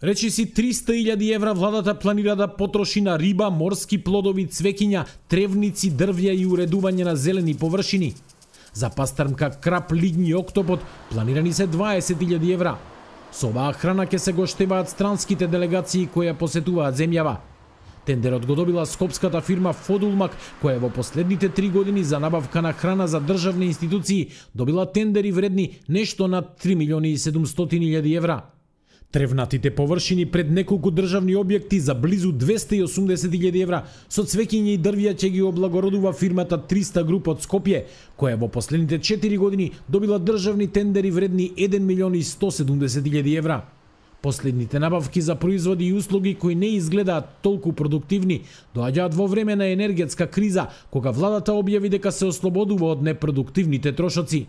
Речиси 300.000 евра владата планира да потроши на риба, морски плодови, цвеќиња, тревници, дрвја и уредување на зелени површини. За пастрмка, крап, лињ и октопод планирани се 20.000 евра. Со оваа храна ќе се гоштеваат странските делегации кои ја посетуваат земјава. Тендерот го добила скопската фирма Фодулмак, која во последните 3 години за набавка на храна за државни институции добила тендери вредни нешто над 3.700.000 евра. Тревнатите површини пред неколку државни објекти за близу 280.000 евра со цвеќиња и дрвја ќе ги облагородува фирмата 300 груп од Скопје, која во последните 4 години добила државни тендери вредни 1.170.000 евра. Последните набавки за производи и услуги кои не изгледаат толку продуктивни доаѓаат во време на енергетска криза, кога владата објави дека се ослободува од непродуктивните трошоци.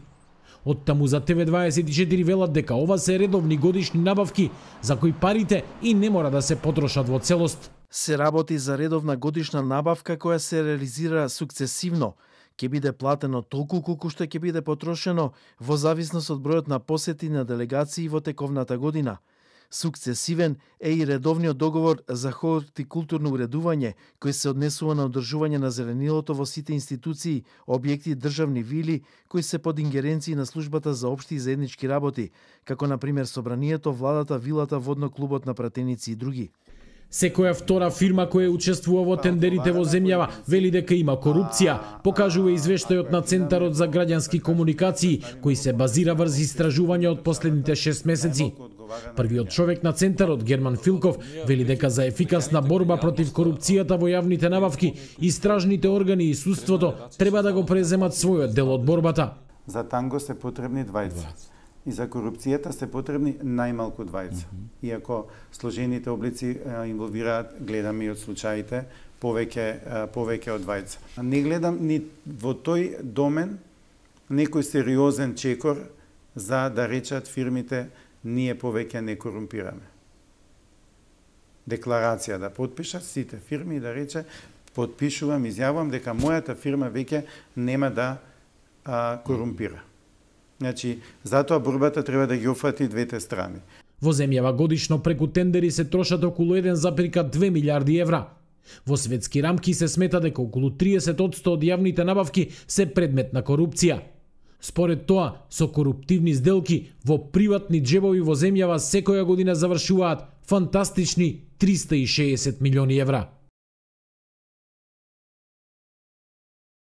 Оттаму за ТВ24 велат дека ова се редовни годишни набавки за кои парите и не мора да се потрошат во целост. Се работи за редовна годишна набавка која се реализира сукцесивно. Ќе биде платено толку колку што ќе биде потрошено во зависност од бројот на посети на делегации во тековната година. Сукцесивен е и редовниот договор за хортикултурно уредување, кој се однесува на одржување на зеленилото во сите институции, објекти и државни вили, кои се под ингеренции на службата за општи и заеднички работи, како на пример собранието, владата, вилата, водно клубот на пратеници и други. Секоја втора фирма која учествува во тендерите во земјава вели дека има корупција, покажува извештајот на Центарот за граѓански комуникации, кој се базира врз истражување од последните 6 месеци. Првиот човек на Центарот, Герман Филков, вели дека за ефикасна борба против корупцијата во јавните набавки, истражните органи и судството треба да го преземат својот дел од борбата. За танго се потребни двајца. И за корупцијата се потребни најмалку двајца. Иако сложените облици инволвираат, гледаме и од случаите, повеќе од двајца. Не гледам ни во тој домен некој сериозен чекор за да речат фирмите ние повеќе не корумпираме. Декларација да потпишат сите фирми и да рече потпишувам, изјавувам дека мојата фирма веќе нема да корумпира. Значи, затоа борбата треба да ги опфати двете страни. Во земјава годишно преку тендери се трошат околу 1,2 милиарди евра. Во светски рамки се смета дека околу 30% од јавните набавки се предмет на корупција. Според тоа, со коруптивни сделки во приватни џебови во земјава секоја година завршуваат фантастични 360 милиони евра.